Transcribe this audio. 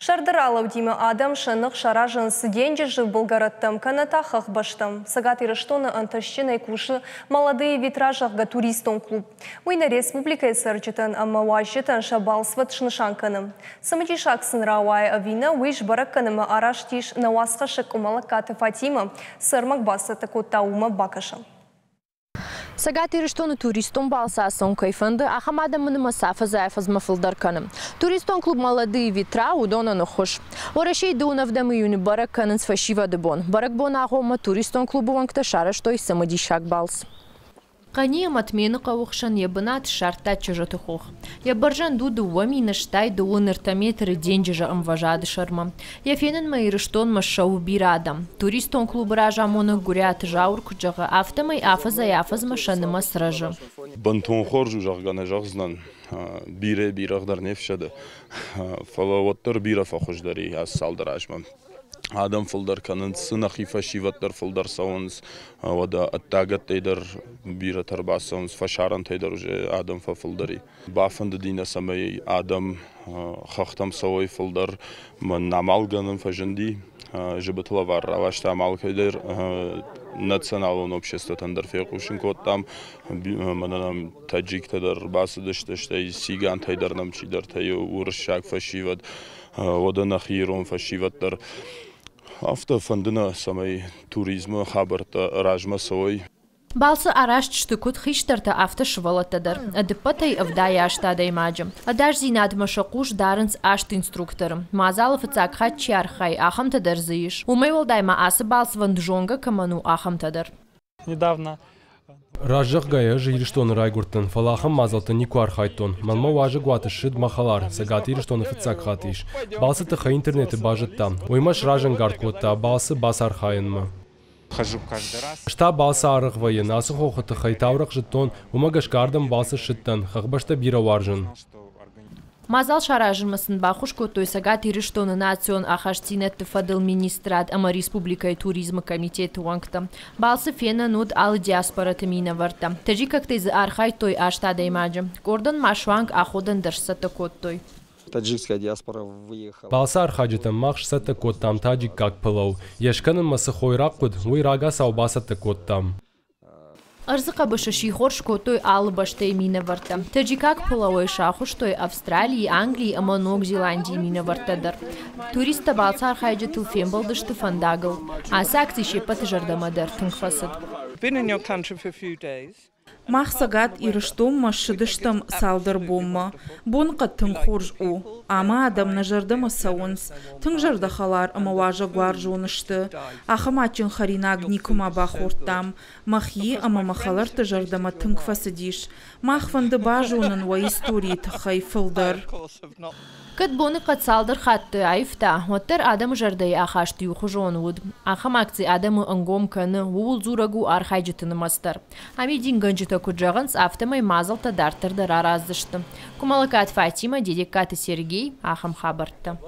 Сӕрды ралӕудимӕ адӕм сӕ ных саразынц денджызы былгӕрӕттӕм, кӕнӕ та хӕхбӕстӕм. Цӕгат Ирыстоны ӕнтыстджынӕй кусы Молодые ветра, зӕгъгӕ, туристон клуб. Уый нӕ республикӕйы цӕрджытӕн ӕмӕ уазджытӕн сӕ балцвӕд снысан кӕны. Цымыдисаг сын рауайы ӕви нӕ, уый сбӕрӕг кӕнынмӕ араст ис нӕ уацхӕссӕг Къуымӕллӕгкаты Фатимӕ. Цы ӕрмӕг бацӕттӕ кодта, уымӕ бакӕсӕм. Цӕгат Ирыстоны туристон балцы ацӕуын кӕй фӕнды, ахӕм адӕмы нымӕц афӕдзӕй-афӕдзмӕ фылдӕр кӕны. Туристон клуб «Молодые ветра» уыдонӕн ӕххуыс. Уӕрӕсейы дыууын июны бӕрӕг кӕнынц фӕсивӕды бон. Бӕрӕгбоны агъоммӕ туристон клубы уӕнгтӕ сарӕзтой цымыдисаг балц. Хъӕни ӕмӕ Тмены хъӕуы хсӕн йӕ бынат ссардта Чызджыты хох. Йӕ бӕрзӕнд у 2033 метры денджызы ӕмвӕзады сӕрмӕ. Йӕ фенынмӕ Ирыстонмӕ ссӕуы бирӕ адӕм. Туристон клубы разамонӕг Гуыриаты Зауыр куыд зӕгъы, афтӕмӕй афӕдзӕй-афӕдзмӕ сӕ нымӕц рӕзы. Бынтон хорз у, зӕгъгӕ, нӕ зӕгъдзынӕн. Бирӕ бирӕгъ дӕр не фсӕды, фӕлӕ уӕддӕр бирӕ фӕхуыздӕр и ацы цалдӕр азмӕ. Адӕм фылдӕр кӕнынц, нӕхи фӕсивӕд дӕр фылдӕр цӕуынц, уӕдӕ ӕддагӕттӕй дӕр бирӕтӕ ӕрбацӕуынц, фӕсарӕнтӕй дӕр уже адӕм фӕфылдӕр и. Бафӕндыди нӕ, цӕмӕй адӕм хӕхтӕм цӕуой фылдӕр. Мӕн амалгӕнӕн фӕзынди, зыбыты лӕвар раласта алкӕй дӕр, националон обществотӕн дӕр фехъусын кодтам. Мӕнӕ нӕм таджиктӕ дӕр ӕрбацыдысты, стӕй цигантӕй дӕр нӕм чидӕртӕ уырыссаг фӕсивӕд, уӕдӕ нӕхи ирон фӕсивӕд дӕр. Афтӕ фӕнды нӕ, цӕмӕй туризмы хабӕрттӕ размӕ цӕуой. Балцы арӕзт сты куыд хистӕртӕ, афтӕ сывӕллӕттӕ дӕр. Ӕдыппӕтӕй 78 адӕймаджы. Ӕдасдзинадмӕ сӕ хъус дарынц аст инструкторы. Мадзалы фыццаг хатт чи архайы, ахӕмтӕ дӕр дзы ис. Уымӕй уӕлдай ма ацы балцвӕнд зонгӕ кӕмӕн у, ахӕмтӕ дӕр. Недавно Раззӕгъгӕйӕ ӕз Ирыстоны райгуырдтӕн, фӕлӕ ахӕм мадзӕлтты никуы архайдтон. Мӕнмӕ уазӕгуаты ссыд мӕ хӕлар, Цӕгат Ирыстоны фыццаг хатт ис. Балцы тыххӕй интернеты базыдта. Уый мӕ сразӕнгард кодта балцы бацархайынмӕ. Хожу каждый раз. Ӕз та балцы арӕх вӕййын, ацы хохы тыххӕй таурӕгъ зыдтон, уымӕ гӕсгӕ ардӕм балцы ссыдтӕн, хӕхбӕстӕ бирӕ уарзын. Мадзал саразынмӕ сын баххуыс кодтой Цӕгат Ирыстоны национ ахастдзинӕдты фӕдыл министрад ӕмӕ республикӕйы туризмы комитеты уӕнгтӕ. Балцы фенӕн уыд алы диаспораты минӕвӕрттӕ. Таджикӕгтӕй дзы архайдтой аст адӕймаджы. Къордӕн ма суанг аходӕн дӕр сцӕттӕ кодтой. Таджикская диаспора выехала. Балцы архайджытӕн мах сцӕттӕ кодтам таджиккаг пылау. Йе скӕнынмӕ цы хойраг хъуыд, уый рагацау бацӕттӕ кодтам. Ӕрдзы хъӕбысы сихор скодтой алы бӕстӕйы минӕвӕрттӕ. Таджикаг пылауӕй сахуыстой Австралийы, Английы ӕмӕ Ног Зеландийы минӕвӕрттӕ дӕр. Туристтӕ балцы архайджытыл фембӕлдысты фӕндагыл. Ацы акци се ппӕты зӕрдӕмӕ дӕр тынг фӕцыд. Been in your country for a few days. Мах Цӕгат Ирыстонмӕ ссыдыстӕм цалдӕр бонмӕ. Боныхъӕд тынг хорз у, ӕмӕ адӕм нӕ зӕрдӕмӕ цӕуынц. Тынг зӕрдӕхӕлар ӕмӕ уазӕгуарзон сты. Ахӕм адджын хӕринаг никуыма бахордтам. Мӕхи ӕмӕ мӕ хӕлӕртты зӕрдӕмӕ тынг фӕцыдис. Мах фӕнды базонын уӕ историйы тыххӕй фылдӕр. Кӕд боныхъӕд цалдӕр хатты аивта, уӕддӕр адӕмы зӕрдӕйы ахаст иухуызон уыд. Ахӕм акци адӕмы ӕнгом кӕны, ууыл дзурӕг у архайджыты нымӕц дӕр. Амидингӕнджытӕ куыд зӕгъынц, афтӕмӕй мадзӕлттӕ дарддӕр дӕр араздзысты. Къуымӕллӕгкаты Фатимӕ, Дедегкаты Сергей, ахӕм хабӕрттӕ.